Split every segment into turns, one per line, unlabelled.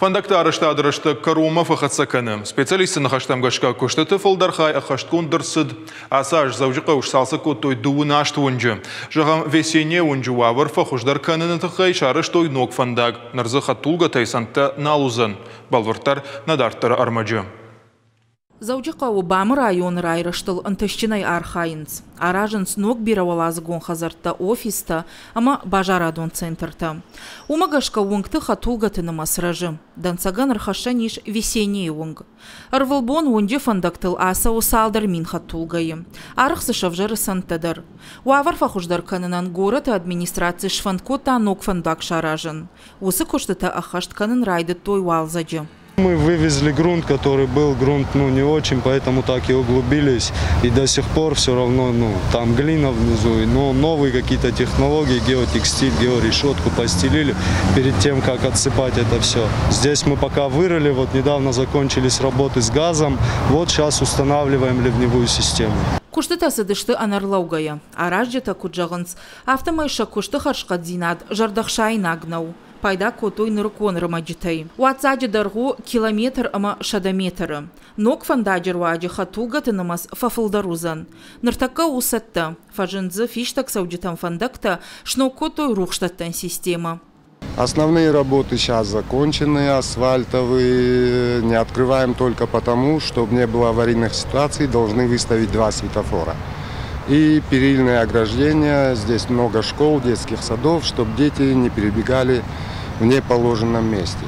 Фӕндӕгты арӕзтады рӕстӕг кӕронмӕ фӕхӕццӕ кӕны. Специалистты ныхӕстӕм гӕсгӕ куыстыты фылдӕр хай ӕххӕстгонд ӕрцыд. Ацы аз Дзӕуджыхъӕуы сцалцӕг кодтой дыууын аст уынджы. Зӕгъӕм, Весенняя уынджы уавӕр фӕхуыздӕр кӕныны тыххӕй сарӕзтой ног фӕндаг. Ныр дзы хӕдтулгӕтӕй цӕндтӕ нал уыдзӕн. Бӕлвырддӕр нӕ дарддӕры ӕрмӕджы.
Дзӕуджыхъӕуы БАМ-ы районы райрӕзтыл ӕнтыстджынӕй архайынц. Аразынц ног бирӕуӕладзыгон хӕдзӕрттӕ, офистӕ ӕмӕ базарадон центртӕ. Уымӕ гӕсгӕ уынгты хӕдтулгӕты нымӕц рӕзы. Дӕнцӕгӕн ӕрхӕссӕн ис Весеннийы уынг. Ӕрвылбон уынджы фӕндӕгтыл ацӕуы цалдӕр мин хӕдтулгӕйы. Арӕх дзы сӕвзӕры цӕндтӕ дӕр. Уавӕр фӕхуыздӕр кӕнынӕн горӕты администраци сфӕнд кодта ног фӕндаг саразын. Уыцы куыстытӕ ӕххӕст кӕнын райдыдтой уалдзӕджы.
Мы вывезли грунт, который был, грунт, ну, не очень, поэтому так и углубились. И до сих пор все равно, ну, там глина внизу, но новые какие-то технологии, геотекстиль, георешетку постелили перед тем, как отсыпать это все. Здесь мы пока вырыли, вот недавно закончились работы с газом, вот сейчас устанавливаем ливневую систему.
Куыстытӕ цыдысты ӕнӕрлӕугӕйӕ. Аразджытӕ куыд зӕгъынц, афтӕмӕй сӕ куысты хӕрзхъӕддзинад зӕрдӕхсаинаг нӕу. Пайда кодтой нырыккон ӕрмӕджытӕй. Уаццаджы дӕргъ у километр ӕмӕ 100 метры. Ног фӕндаджы руаджы хӕдтулгӕты нымӕц фӕфылдӕр уыдзӕн. Ныртӕккӕ у цӕттӕ. Фӕзынд дзы фистӕгцӕуджытӕн фӕндӕгтӕ, сног кодтой рухсдӕттӕн системӕ.
Основные работы сейчас закончены, асфальтовые. Не открываем только потому, чтобы не было аварийных ситуаций, должны выставить два светофора. И перильное ограждение, здесь много школ, детских садов, чтобы дети не перебегали в неположенном месте.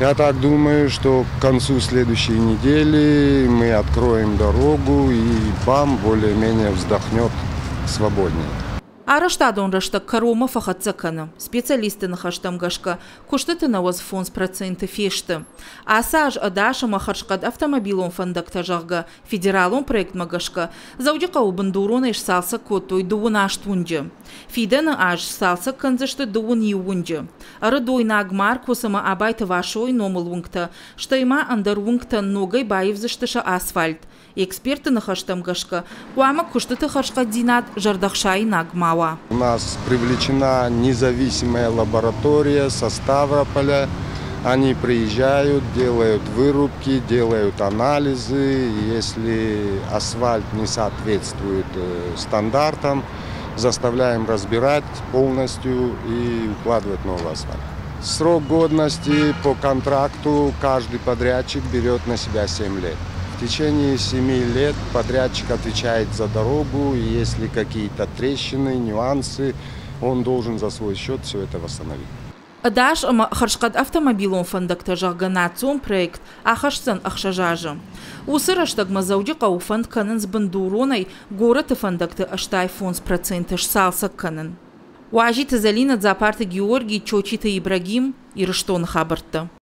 Я так думаю, что к концу следующей недели мы откроем дорогу, и БАМ более-менее вздохнет свободнее.
Арӕзтадон рӕстӕг кӕронмӕ фӕхӕццӕ кӕны. Специалистты ныхӕстӕм гӕсгӕ, куыстыты 95% фесты. Ацы аз ӕдас ӕмӕ хӕрзхъӕд автомобилон фӕндӕгтӕ, зӕгъгӕ, федералон проектмӕ гӕсгӕ Дзӕуджыхъӕуы бындуронӕй сцалцӕг кодтой 28 уынджы. Фидӕны аз сцалцӕг кӕндзысты 21 уынджы. Ӕрыдойнаг, Маркос ӕмӕ Абайты Васойы номыл уынгтӕ, стӕй ма ӕндӕр уынгтӕн ногӕй баивдзысты сӕ асфальт. Экспертты ныхӕстӕм гӕсгӕ, хъуамӕ куыстыты хӕрзхъӕддзинад зӕрдӕхсаинаг ма уа.
У нас привлечена независимая лаборатория со Ставрополя. Они приезжают, делают вырубки, делают анализы. Если асфальт не соответствует стандартам, заставляем разбирать полностью и укладывать новый асфальт. Срок годности по контракту каждый подрядчик берет на себя 7 лет. В течение 7 лет подрядчик отвечает за дорогу, и если какие-то трещины, нюансы, он должен за свой счет все это восстановить.
Ӕдас ӕмӕ хӕрзхъӕд автомобилон фӕндӕгтӕ, зӕгъгӕ, национ проект ахӕсдзӕн 6 азы. Уыцы рӕстӕгмӕ Дзӕуджыхъӕуы фӕнд кӕнынц бындуронӕй горӕты фӕндӕгты 85% сцалцӕг кӕнын. Уазиты Зӕлинӕ, Дзапарты Георгий, Чочиты Ибрагим, Ирыстоны хабӕрттӕ.